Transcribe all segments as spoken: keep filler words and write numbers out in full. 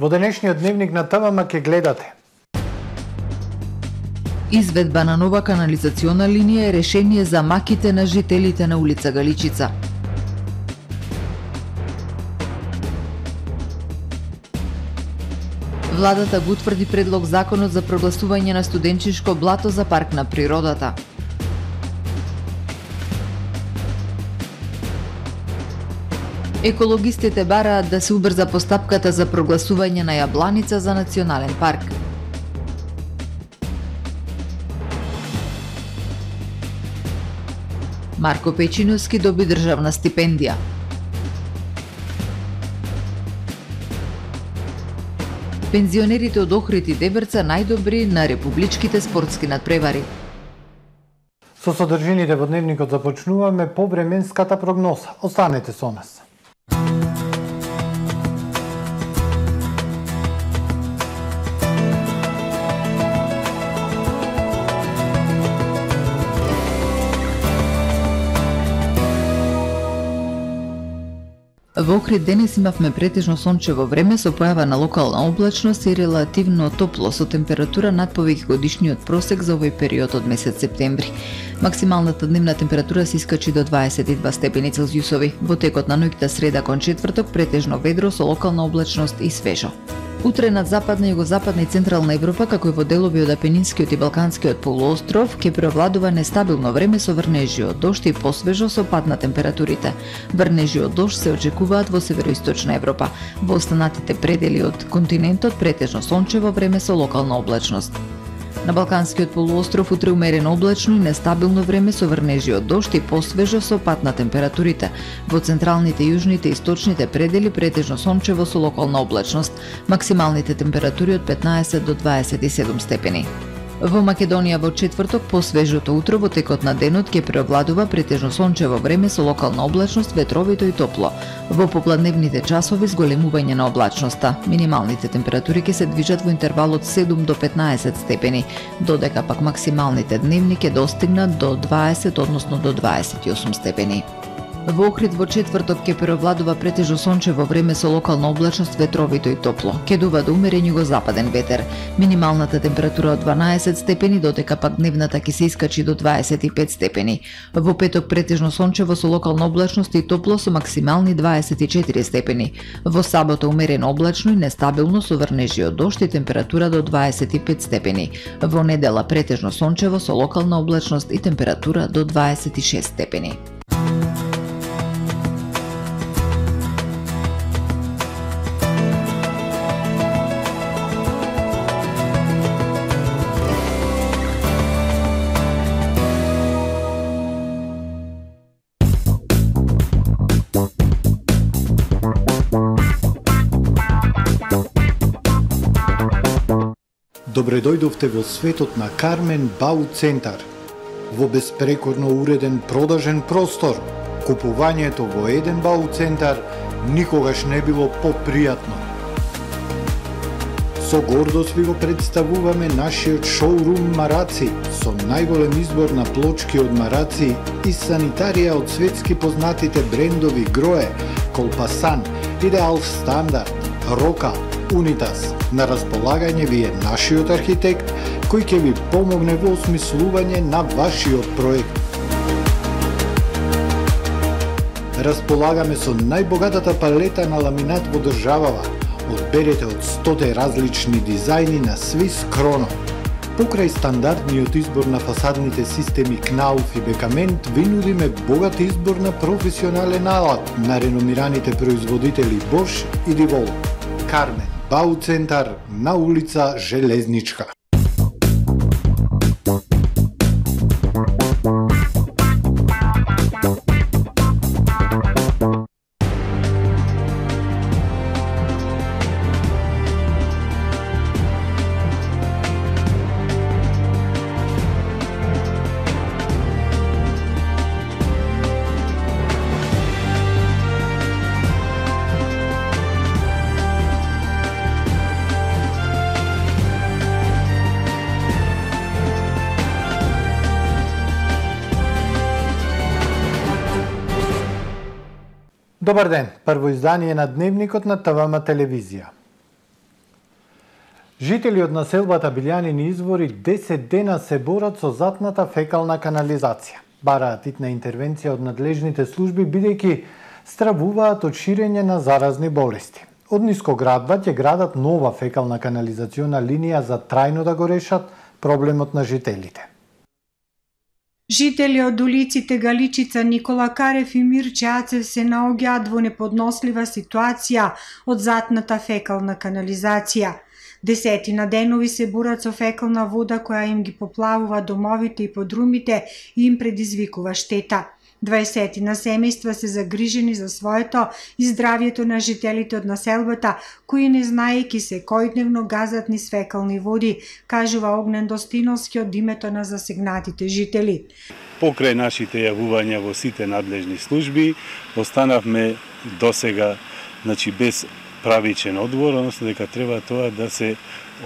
Во денешниот дневник на ТВМ ке гледате: Изведба на нова канализациона линија е решение за маките на жителите на улица Галичица. Владата го утврди предлог законот за прогласување на студенчишко блато за парк на природата. Екологистите бараат да се убрза постапката за прогласување на Јабланица за национален парк. Марко Печиновски доби државна стипендија. Пензионерите од Охрид и Деберца најдобри на републичките спортски надпревари. Со содржините во дневникот започнуваме по временската прогноза. Останете со нас. Во Охрид денес имавме претежно сончево време со појава на локална облачност и релативно топло со температура над повеќе годишниот просек за овој период од месец септември. Максималната дневна температура се искачи до дваесет и два степени Целзиусови. Во текот на ноќта среда кон четврток претежно ведро со локална облачност и свежо. Утре над западна, југозападна и централна Европа, како и во делови од Апенинскиот и Балканскиот полуостров, ќе преовладува нестабилно време со врнежи од дожд и посвежо со пад на температурите. Врнежи од дожд се очекуваат во североисточна Европа. Во останатите предели од континентот претежно сончево време со локална облачност. На Балканскиот полуостров утре умерено облачно и нестабилно време со врнежи од дожд и посвежо со пад на температурите. Во централните, јужните и источните предели претежно сончево со локална облачност. Максималните температури од петнаесет до дваесет и седум степени. Во Македонија во четврток по свежото утро во текот на денот ќе преовладува претежно сончево време со локална облачност, ветровито и топло. Во попладневните часови зголемување на облачноста. Минималните температури ќе се движат во интервал од седум до петнаесет степени, додека пак максималните дневни ќе достигнат до дваесет, односно до дваесет и осум степени. Во Охрид во четврток ќе преовладува претежно сончево време со локална облачност, ветровито и топло. Ќе дува до умерен југозападен ветер. Минималната температура од дванаесет степени, додека пак дневната ќе се искачи до дваесет и пет степени. Во петок претежно сончево со локална облачност и топло со максимални дваесет и четири степени. Во сабота умерено облачно и нестабилно со врнежи од дожд и температура до дваесет и пет степени. Во недела претежно сончево со локална облачност и температура до дваесет и шест степени. Добре дојдовте во светот на Кармен Бау Центар. Во беспрекорно уреден продажен простор, купувањето во еден Бау Центар никогаш не било попријатно. Со гордост ви го представуваме нашиот шоурум Мараци, со најголем избор на плочки од Мараци и санитарија од светски познатите брендови Грое, Колпасан, Идеал Стандард, Рока, Унитас. На располагање ви е нашиот архитект, кој ќе ви помогне во осмислување на вашиот проект. Располагаме со најбогатата палета на ламинат во државава. Одберете од сто различни дизајни на Swiss Chrono. Покрај стандардниот избор на фасадните системи Knauf и Бекамент, ви нудиме богат избор на професионален алат на реномираните производители Bosch и Divol. Кармен Бау Центар на улица Железничка. Добар ден, прво издание на Дневникот на ТВМ телевизија. Жители од населбата Билјанини извори десет дена се борат со затната фекална канализација. Бараат итна интервенција од надлежните служби, бидејќи стравуваат од ширење на заразни болести. Од Нискоградба ќе градат нова фекална канализациона линија за трајно да го решат проблемот на жителите. Жители од улиците Галичица, Никола Карев и Мирче Ацев се наоѓаат во неподнослива ситуација од затната фекална канализација. Десетина денови се борат со фекална вода која им ги поплавува домовите и подрумите и им предизвикува штета. дваесетина семејства се загрижени за своето и здравјето на жителите од населбата, кои не знаејќи се секојдневно газат низ фекални води, кажува Огнен Достиновски од името на засегнатите жители. Покрај нашите јавувања во сите надлежни служби, останавме досега, значи без правичен одговор, односно дека треба тоа да се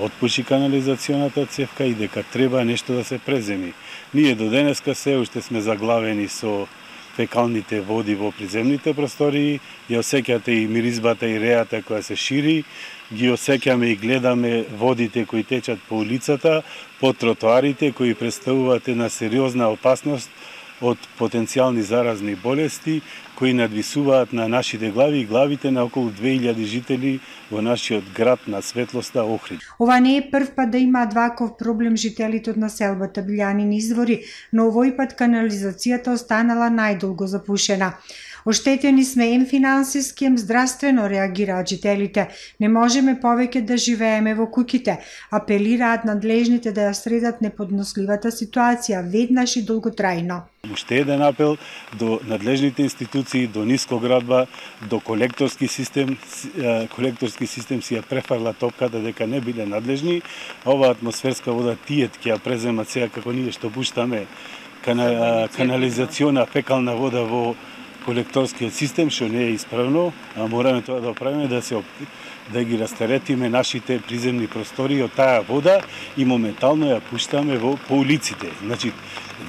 отпуши канализационата цевка и дека треба нешто да се преземи. Ние до денеска се уште сме заглавени со фекалните води во приземните простории, ја осеќате и миризбата и реата која се шири, ги осеќаме и гледаме водите кои течат по улицата, по тротоарите кои представуваат една сериозна опасност од потенцијални заразни болести кои надвисуваат на нашите глави и главите на околу две илјади жители во нашиот град на светлоста Охрид. Ова не е прв пат да имаат ваков проблем жителите од населбата Билјанини извори, но овој пат канализацијата останала најдолго запушена. Оштетени сме ем финансиски, ем здравствено, реагираат жителите. Не можеме повеќе да живееме во куќите. Апелираат надлежните да ја средат неподносливата ситуација веднаш и долготрајно. Уште еден апел до надлежните институции, до Нискоградба, до колекторски систем. Колекторски систем си ја префарла топката дека не биле надлежни. Ова атмосферска вода тиет ќе ја преземат сега како ние што пуштаме кана, канализациона фекална вода во колекторскиот систем, што не е исправно, а мораме тоа да правиме да се да ги растеретиме нашите приземни простори од таа вода и моментално ја пуштаме во по улиците. Значи,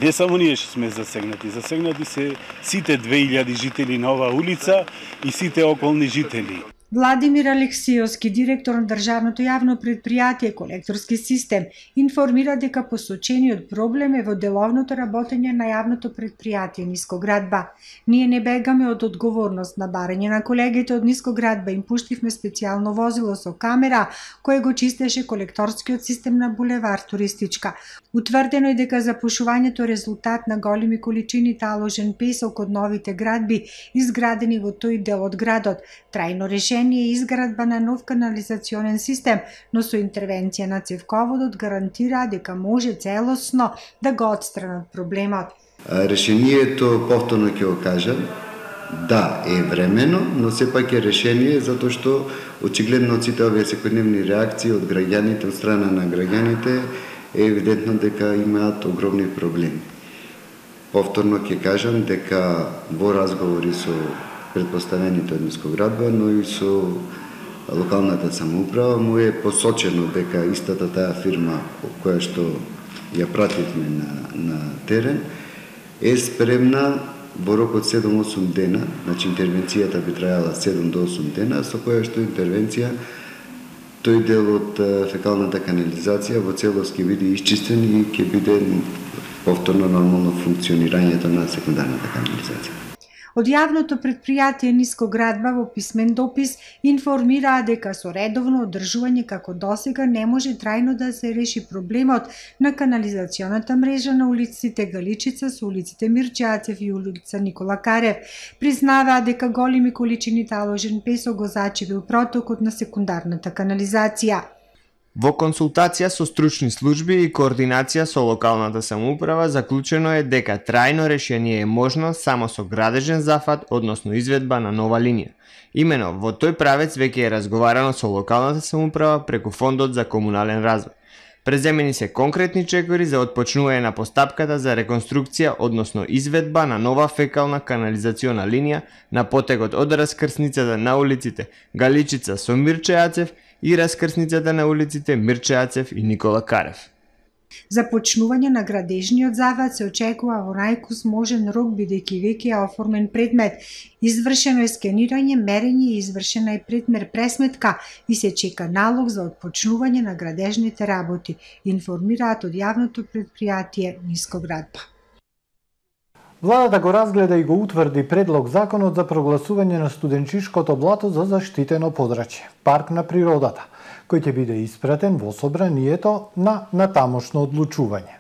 не само ние што сме засегнати, засегнати се сите две илјади жители на оваа улица и сите околни жители. Владимир Алексиовски, директор на државното јавно предпријатие Колекторски систем, информира дека посочениот проблем е во деловното работење на јавното предпријатие Нискоградба. Ние не бегаме од одговорност. На барање на колегите од Нискоградба им пуштивме специјално возило со камера кое го чистеше колекторскиот систем на булевар Туристичка. Утврдено е дека запушувањето е резултат на големи количини таложен песок од новите градби изградени во тој дел од градот. Трајно решение е изградба на нов канализационен систем, но со интервенција на цевководот гарантира дека може целосно да го отстранат проблемот. Решението, повторно ќе го кажам, да, е времено, но сепак е решение затоа што очигледно од сите овие секојдневни реакции од граѓаните, од страна на граѓаните, е евидентно дека имаат огромни проблеми. Повторно ќе кажам дека во разговори со предпоставените од Нискоградба, но и со локалната самоуправа му е посочено дека истата таа фирма која што ја пративме на, на терен е спремна во рок од седум-осум дена, значи интервенцијата би трајала седум до осум дена, со која што интервенција тој дел од фекалната канализација во целост ќе биде исчистен и ќе биде повторно нормално функционирањето на секундарната канализација. Од јавното предпријатие Нискоградба во писмен допис информираа дека со редовно одржување како досега не може трајно да се реши проблемот на канализационата мрежа на улиците Галичица со улиците Мирче Ацев и улица Никола Карев. Признаваа дека големи количини таложен песок го зачевил протокот на секундарната канализација. Во консултација со стручни служби и координација со локалната самоуправа заклучено е дека трајно решение е можно само со градежен зафат, односно изведба на нова линија. Имено во тој правец веќе е разговарано со локалната самоуправа преку Фондот за комунален развој. Преземени се конкретни чекори за отпочнување на постапката за реконструкција, односно изведба на нова фекална канализациона линија на потегот од раскрсницата на улиците Галичица со Мирче Ацев и раскрсницата на улиците Мирче Ацев и Никола Карев. Започнување на градежниот зафат се очекува во најкусможен рок, бидејќи веќе е оформен предмет, извршено е скенирање, мерење и извршена е предмер пресметка и се чека налог за отпочнување на градежните работи, информираат од јавното предпријатие Нискоградба. Владата го разгледа и го утврди предлог законот за прогласување на студенчишкото блато за заштитено подрачје, парк на природата, кој ќе биде испратен во собранието на натамошно одлучување.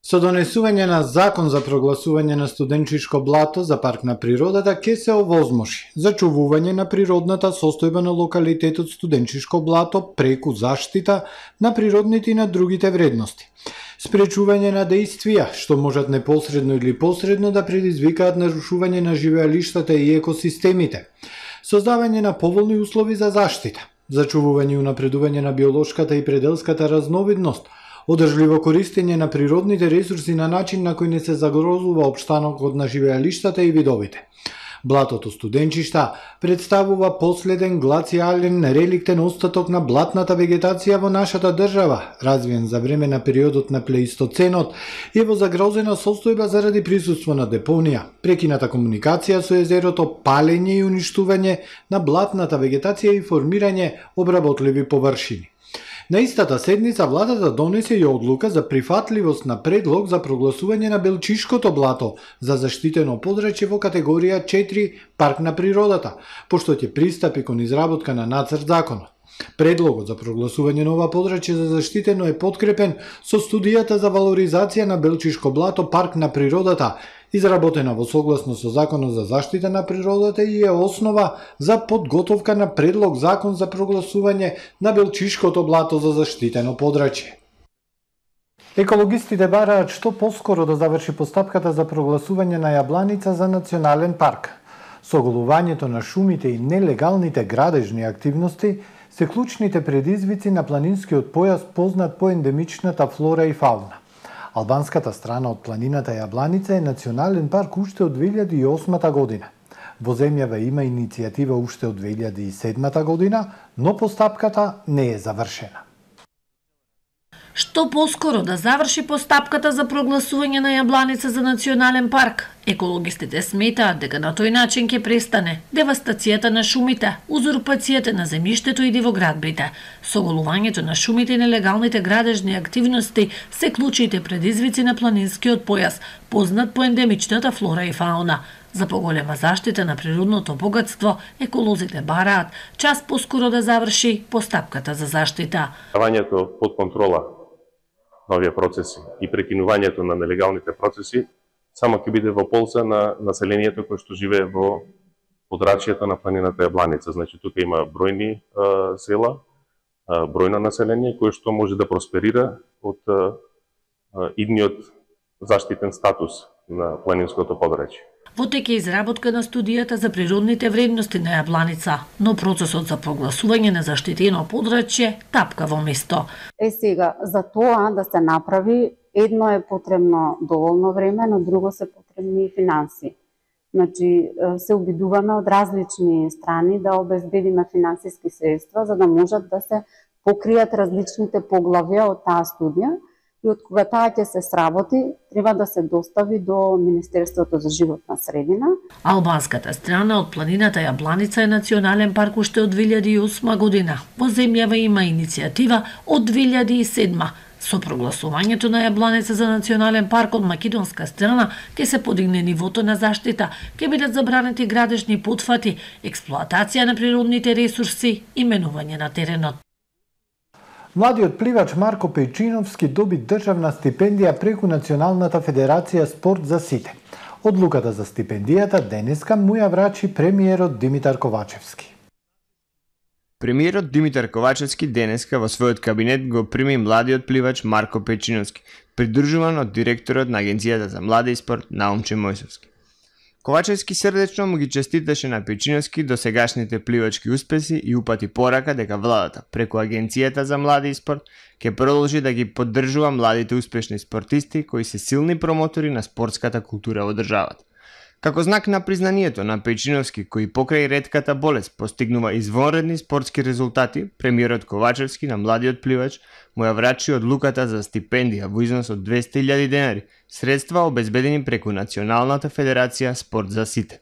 Со донесување на закон за прогласување на студенчишко блато за парк на природата ќе се овозможи зачувување на природната состојба на локалитетот студенчишко блато преку заштита на природните и на другите вредности, спречување на дејствија што можат непосредно или посредно да предизвикаат нарушување на живеалиштата и екосистемите, создавање на поволни услови за заштита, зачувување и унапредување на биолошката и пределската разновидност, одржливо користење на природните ресурси на начин на кој не се загрозува општанокот на живеалиштата и видовите. Блатото Студенчишта представува последен глацијален реликтен остаток на блатната вегетација во нашата држава, развиен за време на периодот на плеистоценот и во загрозена состојба заради присуство на депонија, прекината комуникација со езерото, палење и уништување на блатната вегетација и формирање обработливи површини. На истата седница владата донесе и одлука за прифатливост на предлог за прогласување на Белчишкото блато за заштитено подрачје во категорија четири парк на природата, пошто ќе пристапи кон изработка на нацрт законот. Предлогот за прогласување на ова подрачје за заштитено е подкрепен со студијата за валоризација на Белчишко блато парк на природата, изработена во согласно со Законот за заштита на природата и е основа за подготовка на предлог закон за прогласување на Белчишкото блато за заштитено подрачје. Екологистите бараат што поскоро да заврши постапката за прогласување на Јабланица за национален парк. Соголувањето на шумите и нелегалните градежни активности се клучните предизвици на планинскиот појас познат по ендемичната флора и фауна. Албанската страна од планината Јабланица е национален парк уште од две илјади и осма година. Во земјава има иницијатива уште од две илјади и седма година, но постапката не е завршена. Што поскоро да заврши постапката за прогласување на Јабланица за национален парк. Екологистите сметаат дека на тој начин ќе престане девастацијата на шумите, узурпацијата на земјиштето и дивоградбите. Соголувањето на шумите и нелегалните градежни активности се клучните предизвици на планинскиот појас, познат по ендемичната флора и фауна. За поголема заштита на природното богатство, еколозите бараат час поскоро да заврши постапката за заштита. Ставањето под контрола на овие процеси и прекинувањето на нелегалните процеси само ќе биде во полза на населението кој што живее во подрачјето на планината Јабланица. Значи, тука има бројни а, села, а, бројно население кое што може да просперира од а, идниот заштитен статус на планинското подрачје. Во тек е изработка на студијата за природните вредности на Јабланица, но процесот за прогласување на заштитено подрачје тапка во место. Е сега, за тоа да се направи, едно е потребно доволно време, но друго се потребни и финанси. Значи, се обидуваме од различни страни да обезбедиме финансиски средства, за да можат да се покријат различните поглавја од таа студија, и од кога таа ќе се сработи, треба да се достави до Министерството за животна средина. Албанската страна од планината Јабланица е национален парк уште од две илјади и осма година. Во земјава има иницијатива од две илјади и седма. Со прогласувањето на Јабланица за национален парк од македонска страна ќе се подигне нивото на заштита, ќе бидат забранети градежни потфати, експлоатација на природните ресурси и менување на теренот. Младиот пливач Марко Пејчиновски доби државна стипендија преку Националната федерација спорт за сите. Одлуката за стипендијата денеска му ја врачи премиерот Димитар Ковачевски. Премиерот Димитар Ковачевски денеска во својот кабинет го прими младиот пливач Марко Пејчиновски, придружуван од директорот на Агенцијата за младе и спорт Наумче Мојсовски. Ковачевски срдечно му ги честиташе на Пејчиновски до сегашните пливачки успеси и упати порака дека владата, преку Агенцијата за млади и спорт, ќе продолжи да ги поддржува младите успешни спортисти кои се силни промотори на спортската култура во државата. Како знак на признанието на Печиновски, кој покрај ретката болест постигнува извонредни спортски резултати, премиерот Ковачевски на младиот пливач му ја врачи одлуката за стипендија во износ од двесте илјади денари, средства обезбедени преку Националната федерација Спорт за сите.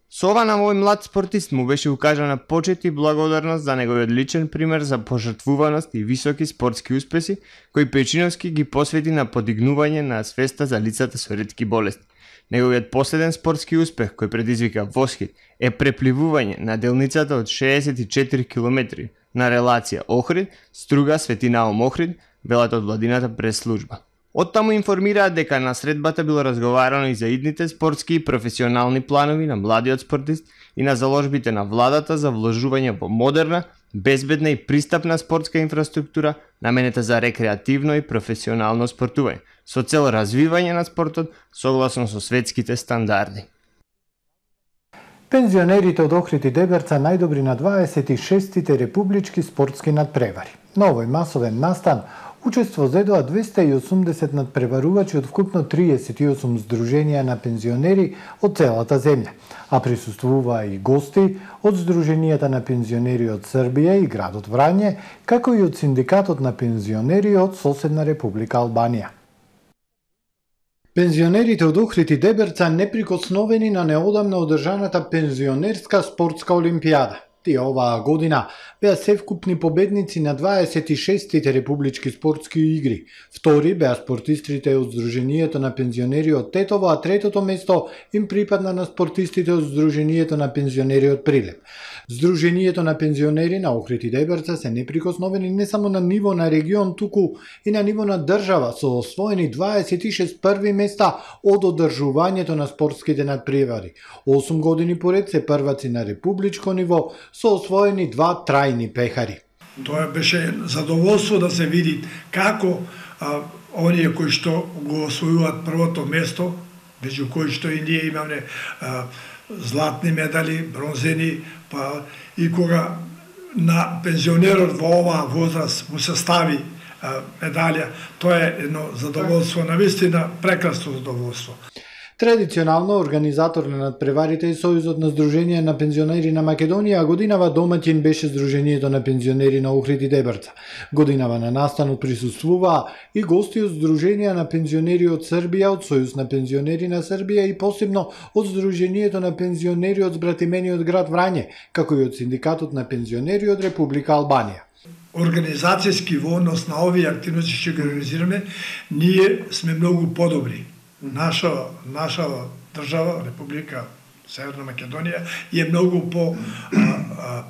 Со ова на овој млад спортист му беше укажана почит и благодарност за неговиот личен пример за пожртвуваност и високи спортски успеси, кој Печиновски ги посвети на подигнување на свеста за лицата со ретки болести. Неговиот последен спортски успех, кој предизвика восхит, е препливување на делницата од шеесет и четири километри на релација Охрид, Струга, Свети Наум Охрид, велат од владината прес-служба. Оттаму информираат дека на средбата било разговарано и за идните спортски и професионални планови на младиот спортист и на заложбите на владата за вложување во модерна, безбедна и пристапна спортска инфраструктура наменета за рекреативно и професионално спортување, со цел развивање на спортот согласно со светските стандарди. Пензионерите од Охрид и Деберца најдобри на дваесет и шестите републички спортски надпревари. На овој масовен настан учество зедоа двесте и осумдесет надпреварувачи од вкупно триесет и осум здруженија на пензионери од целата земја, а присуствуваа и гости од Здруженијата на пензионери од Србија и градот Врање, како и од Синдикатот на пензионери од соседна Република Албанија. Пензионерите од Охрид и Деберца неприкосновени на неодамна одржаната пензионерска спортска олимпијада. Тие оваа година беа севкупни победници на дваесет и шестите републички спортски игри. Втори беа спортистите од Здруженијето на пензионери од Тетово, а третото место им припадна на спортистите од Здруженијето на пензионери од Прилеп. Здруженијето на пензионери на Охрид и Деберца се неприкосновени не само на ниво на регион, туку и на ниво на држава, со освоени дваесет и шест први места од одржувањето на спортските надпревари. осум години поред се прваци на републичко ниво, со освоени два трајни пехари. Тоа беше задоволство да се види како а, оние кои што го освојуваат првото место, меѓу кои што и ние имаме а, златни медали, бронзени, па и кога на пензионерот во оваа возраст му се стави а, медалја, тоа е едно задоволство, навистина прекрасно задоволство. Традиционално организатор на надпреварите е Сојузот на Здруженија на пензионери на Македонија, а годинава домаќин беше Здруженијето на пензионери на Охрид и Деберца. Годинава на настанот присуствуваа и гости од Здруженија на пензионери од Србија, од Сојуз на пензионери на Србија и посебно од Здруженијето на пензионери од збратимениот град Врање, како и од Синдикатот на пензионери од Република Албанија. Организацијски во однос на овие активности што ги организираме, ние сме многу подобри. Наша, наша држава, Република Северна Македонија, е многу по,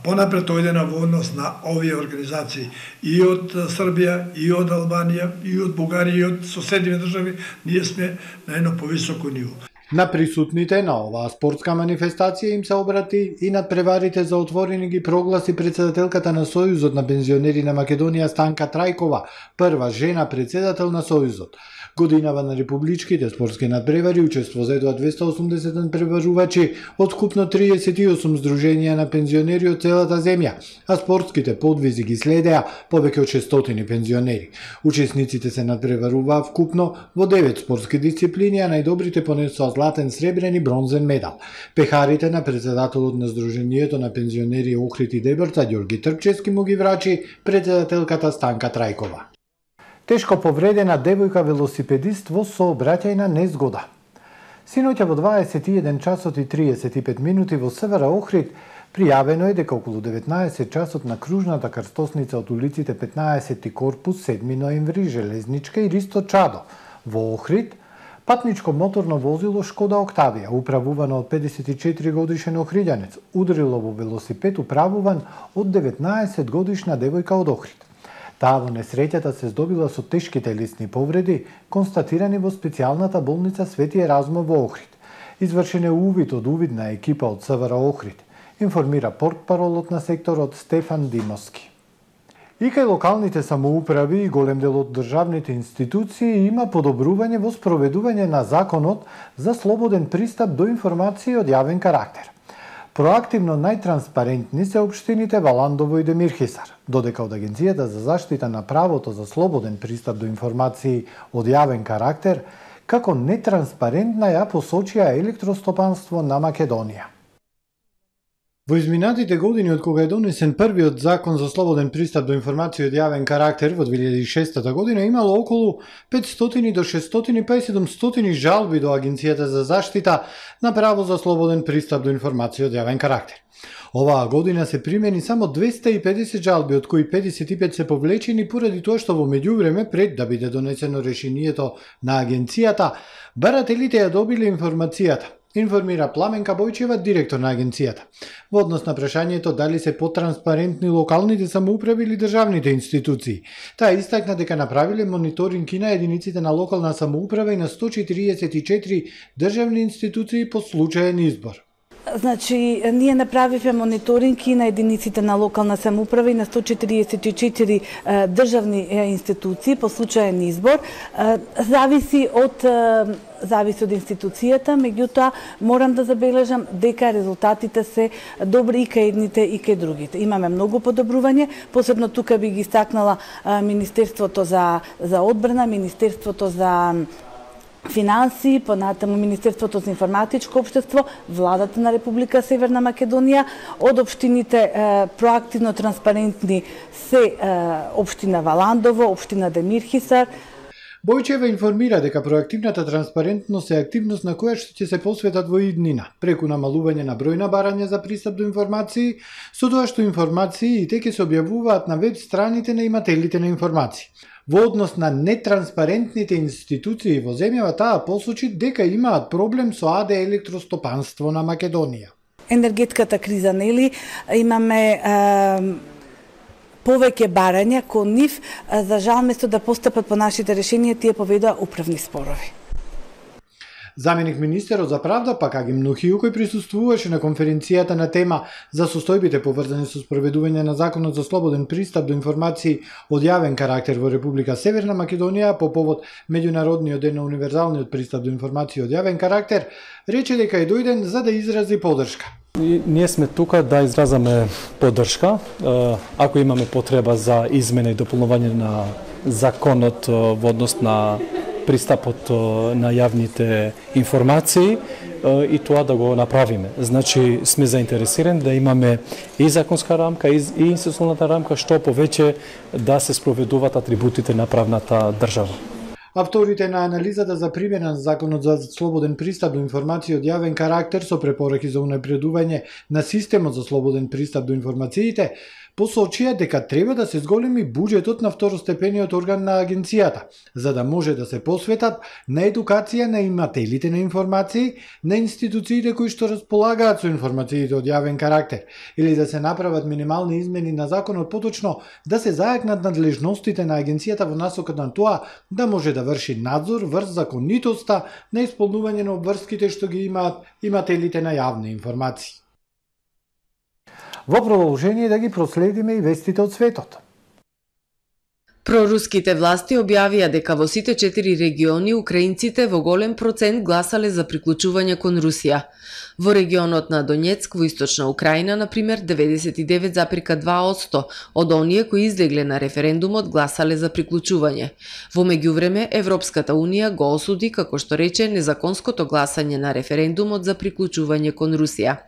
понапред ојдена во однос на овие организации и од Србија, и од Албанија, и од Бугарија, и од соседни држави, ние сме на едно повисоко ниво. На присутните на оваа спортска манифестација им се обрати и надпреварите за отворени ги прогласи председателката на Сојузот на пензионери на Македонија Станка Трајкова, прва жена председател на Сојузот. Годинава на републичките спортски надпревари учество зедоа двесте и осумдесет надпреварувачи од вкупно триесет и осум здруженија на пензионери од целата земја, а спортските подвизи ги следеа повеќе од шестстотини пензионери. Учесниците се надпреваруваа вкупно во девет спортски дисциплини, а најдобрите понесоа златен, сребрен и бронзен медал. Пехарите на председателот на Здруженијето на пензионери Охрид и Деберца Ѓорги Трпчевски му ги врачи председателката Станка Трајкова. Тешко повредена девојка велосипедист во сообраќајна незгода. Синоќа во дваесет и еден часот и триесет и пет минути во СВР Охрид пријавено е дека околу деветнаесет часот на кружната крстосница од улиците петнаесети корпус, седми ноември, Железничка и Ристо Чадо во Охрид, патничко моторно возило Шкода Октавија, управувано од педесет и четири годишен охриѓанец, удрило во велосипед управуван од деветнаесет годишна девојка од Охрид. Таа во несреќата се здобила со тешки телесни повреди, констатирани во специјалната болница Свети Еразмо во Охрид. Извршен е увид од увидна екипа од СВР Охрид, информира портпаролот на секторот Стефан Димовски. И кај локалните самоуправи и голем дел од државните институции има подобрување во спроведување на законот за слободен пристап до информации од јавен карактер. Проактивно најтранспарентни се општините Валандово и Демирхисар, додека од Агенцијата за заштита на правото за слободен пристап до информации од јавен карактер како нетранспарентна ја посочија електростопанство на Македонија. Во изминатите години од кога е донесен првиот закон за слободен пристап до информации од јавен карактер во две илјади и шеста година, имало околу петстотини до шестстотини па и седумстотини жалби до Агенцијата за заштита на право за слободен пристап до информации од јавен карактер. Оваа година се примени само двеста и педесет жалби, од кои педесет и пет се повлечени поради тоа што во меѓувреме, пред да биде донесено решението на агенцијата, барателите ја добиле информацијата, информира Пламенка Бојчева, директор на агенцијата. Во однос на прашањето дали се потранспарентни локалните самоуправи или државните институции, таа истакна дека направиле мониторинг и на единиците на локална самоуправа и на сто четириесет и четири државни институции по случаен избор. Значи, ние направивме мониторинг и на единиците на локална самоуправа и на сто четириесет и четири државни институции по случаен избор. Зависи од зависи од институцијата, меѓутоа морам да забележам дека резултатите се добри и кај едните и кај другите. Имаме многу подобрување, посебно тука би ги истакнала Министерството за за одбрана, Министерството за финансии, понатаму Министерството за информатичко општество, владата на Република Северна Македонија, од општините е, проактивно транспарентни се е, општина Валандово, општина Демирхисар. Бојчева информира дека проактивната транспарентност е активност на која што ќе се посветат во иднина, преку намалување на број на барања за пристап до информации, со тоа што информации и те ќе се објавуваат на веб страните на имателите на информации. Во однос на нетранспарентните институции во земјава, таа посочи дека имаат проблем со АД електростопанство на Македонија. Енергетската криза, нели, имаме е, повеќе барања кон нив, за жал место да постапат по нашите решенија, тие поведоа управни спорови. Заменик министерот за правда, пак Аги Мнухију, кој присуствуваше на конференцијата на тема за состојбите поврзани со спроведување на законот за слободен пристап до информации од јавен карактер во Република Северна Македонија по повод меѓународниот ден на универзалниот пристап до информации од јавен карактер, рече дека е дојден за да изрази поддршка. И ние сме тука да изразаме поддршка, ако имаме потреба за измена и дополнување на законот во однос на пристапот на јавните информации и тоа да го направиме. Значи, сме заинтересирани да имаме и законска рамка, и институционалната рамка, што повеќе да се спроведуваат атрибутите на правната држава. Авторите на анализата за примена на законот за слободен пристап до информации од јавен карактер со препораки за унапредување на системот за слободен пристап до информациите посочија дека треба да се зголеми буџетот на второстепениот орган на агенцијата, за да може да се посветат на едукација на имателите на информации, на институциите кои што располагаат со информациите од јавен карактер, или да се направат минимални измени на законот, поточно да се зајакнат надлежностите на агенцијата во насока на тоа да може да врши надзор врз законитоста на исполнување на обврските што ги имаат имателите на јавни информации. Во продолжение да ги проследиме и вестите од светот. Проруските власти објавија дека во сите четири региони украинците во голем процент гласале за приклучување кон Русија. Во регионот на Донецк во источна Украина, например, деветдесет и девет запирка два одсто од оние кои излегле на референдумот гласале за приклучување. Во меѓувреме, Европската унија го осуди, како што рече, незаконското гласање на референдумот за приклучување кон Русија.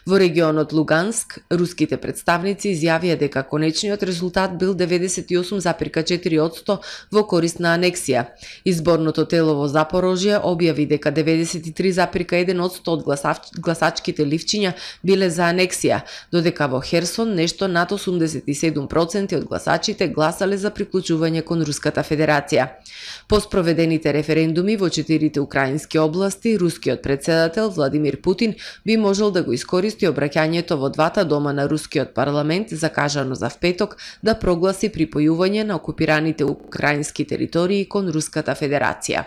Во регионот Луганск, руските представници изјавија дека конечниот резултат бил деветдесет и осум запирка четири одсто во корист на анексија. Изборното тело во Запорожје објави дека деветдесет и три запирка еден одсто од гласачките ливчиња биле за анексија, додека во Херсон нешто над осумдесет и седум проценти од гласачите гласале за приклучување кон Руската Федерација. По спроведените референдуми во четирите украински области, рускиот председател Владимир Путин би можел да го искористи обраќањето во двата дома на рускиот парламент, закажано за впеток, да прогласи припојување на окупираните украински територии кон Руската Федерација.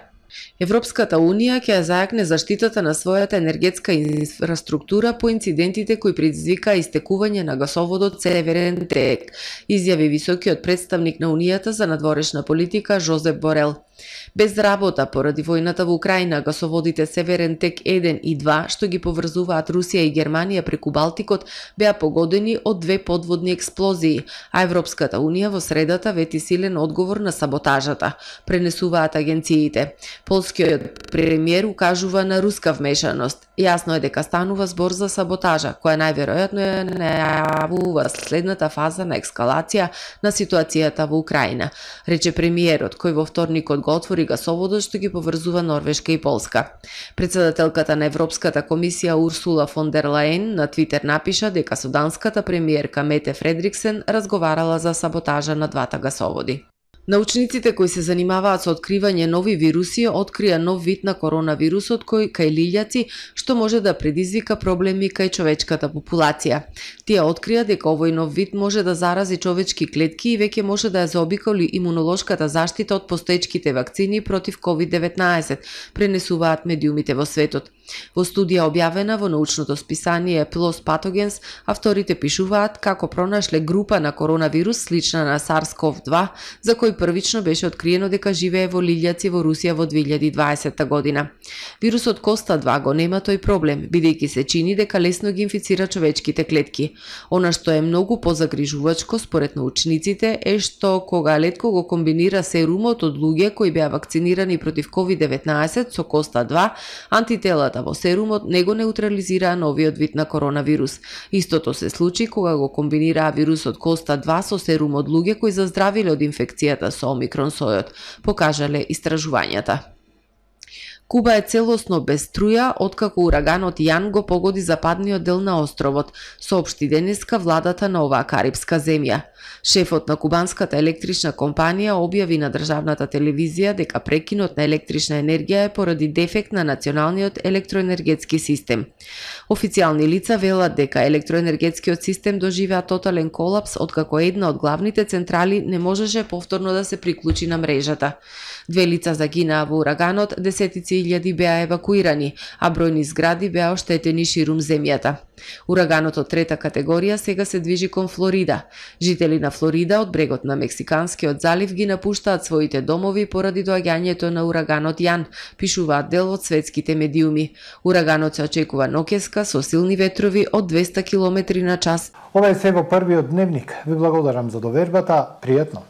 Европската унија ќе зајакне заштитата на својата енергетска инфраструктура по инцидентите кои предизвика истекување на гасоводот Северен тек, изјави високиот представник на Унијата за надворешна политика Жозеп Борел. Без работа поради војната во Украина, гасоводите Северен тек еден и два, што ги поврзуваат Русија и Германија преку Балтикот, беа погодени од две подводни експлозии, а Европската унија во средата вети силен одговор на саботажата, пренесуваат агенциите. Полскиот премиер укажува на руска вмешаност. Јасно е дека станува збор за саботажа, која најверојатно е најавува следната фаза на ескалација на ситуацијата во Украина, рече премиерот, кој во вторникот го отвори гасоводот што ги поврзува Норвешка и Полска. Председателката на Европската комисија Урсула фон дер Лајен на Твитер напиша дека со данската премиерка Мете Фредриксен разговарала за саботажа на двата гасоводи. Научниците кои се занимаваат со откривање нови вируси открија нов вид на коронавирусот кој кај лилјаци што може да предизвика проблеми кај човечката популација. Тие открија дека овој нов вид може да зарази човечки клетки и веќе може да ја заобиколи имунолошката заштита од постоечките вакцини против ковид деветнаесет, пренесуваат медиумите во светот. Во студија објавена во научното списание PLOS Pathogens, авторите пишуваат како пронашле група на коронавирус слична на SARS-CoV два, за кој првично беше откриено дека живее во лилјаци во Русија во две илјади и дваесетта година. Вирусот Коста два го нема тој проблем, бидејќи се чини дека лесно ги инфицира човечките клетки. Она што е многу позагрижувачко според научниците е што кога летко го комбинира серумот од луѓе кои беа вакцинирани против ковид деветнаесет со Коста два, антителата во серумот не го неутрализираа новиот вид на коронавирус. Истото се случи кога го комбинираа вирусот Коста два со серум од луѓе кои заздравиле од инфекцијата со омикрон сојот, покажале истражувањата. Куба е целосно без струја откако ураганот Јан го погоди западниот дел на островот, соопшти денеска владата на оваа карипска земја. Шефот на кубанската електрична компанија објави на државната телевизија дека прекинот на електрична енергија е поради дефект на националниот електроенергетски систем. Официјални лица велат дека електроенергетскиот систем доживеа тотален колапс откако една од главните централи не можеше повторно да се приклучи на мрежата. Две лица загинаа во ураганот, десетици илјади беа евакуирани, а бројни згради беа оштетени ширум земјата. Ураганот од трета категорија сега се движи кон Флорида. Жители на Флорида од брегот на Мексиканскиот залив ги напуштаат своите домови поради доаѓањето на ураганот Јан, пишуваат дел од светските медиуми. Ураганот се очекува ноќеска со силни ветрови од двеста километри на час. Ова е се во првиот дневник. Ви благодарам за довербата. Пријатно.